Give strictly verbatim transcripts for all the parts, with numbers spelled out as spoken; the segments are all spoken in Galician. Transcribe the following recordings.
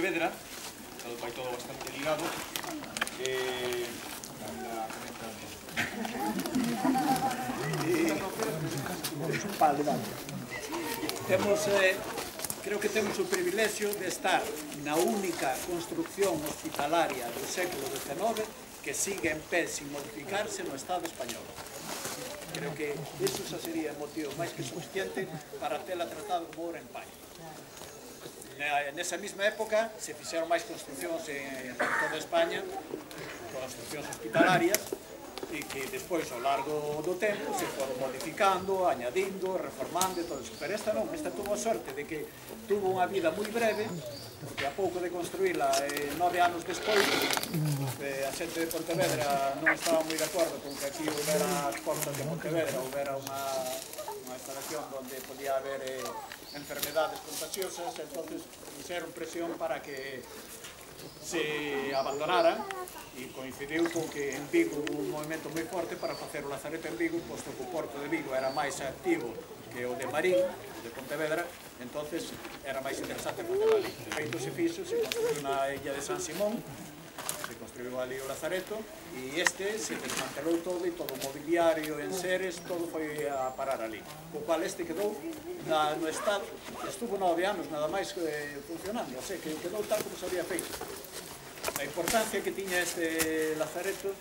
Pontevedra, todo vai todo bastante ligado. Eh, Vale, vale. Temos, eh, creo que temos o privilexio de estar na única construcción hospitalaria do século dezenove que sigue en pé sin modificarse no Estado español. Creo que iso xa sería motivo máis que suficiente para tela tratado como obra en paño. Nesa mesma época se fixeron máis construccións en toda España, construccións hospitalarias, e que despois, ao largo do tempo, se foron modificando, añadindo, reformando e todo eso. Pero esta non, esta tuvo a sorte de que tuvo unha vida moi breve, porque a pouco de construíla, eh, nove anos despois, eh, a xente de Pontevedra non estaba moi de acordo con que aquí houbera as portas de Pontevedra, houbera unha, unha instalación onde podía haber eh, enfermedades contagiosas, entonces fixeron presión para que se abandonaran e coincidiu con que en Vigo hubo un movimento moi forte para facer o Lazareto en Vigo, posto que o porto de Vigo era máis activo que o de Marín, de Pontevedra, entonces era máis interesante facelo ali. De feito se fixo, se construiu na illa de San Simón, se construiu ali o Lazareto, e este se desmantelou todo e todo o mobiliario, enseres, todo foi a parar ali. O cual este quedou na, no estado, estuvo nove anos nada máis eh, funcionando, o sea, que quedou tal como se había feito. A importancia que tiña este Lazareto,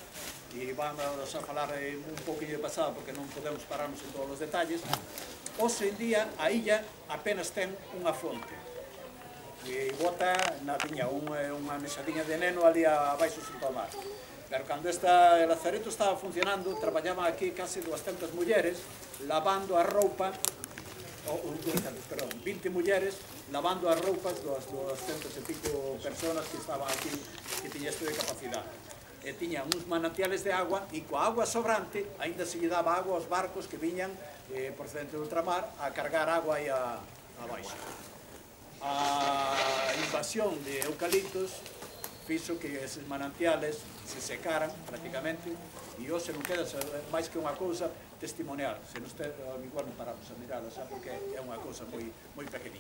e vamos a falar eh, un pouquinho de pasado porque non podemos pararnos en todos os detalles, hoxe en día a illa apenas ten unha fonte. E bota na tiña unha mesadiña de neno ali abaixo xunto ao mar. Pero cando esta Lazareto estaba funcionando, traballaban aquí case doscientas mulleres lavando a roupa, ou, perdón, vinte mulleres lavando as roupas dos doscientas e pico personas que estaban aquí, que tiña isto de capacidade. E tiñan uns manantiales de agua e coa agua sobrante aínda se lle daba agua aos barcos que viñan eh, procedente do ultramar a cargar agua aí a, a baixo. A invasión de eucaliptos fixo que eses manantiales se secaran prácticamente e hoxe non queda máis que unha cousa testimonial. Se nos te, igual non paramos a mirala, xa, porque é unha cousa moi, moi pequenina.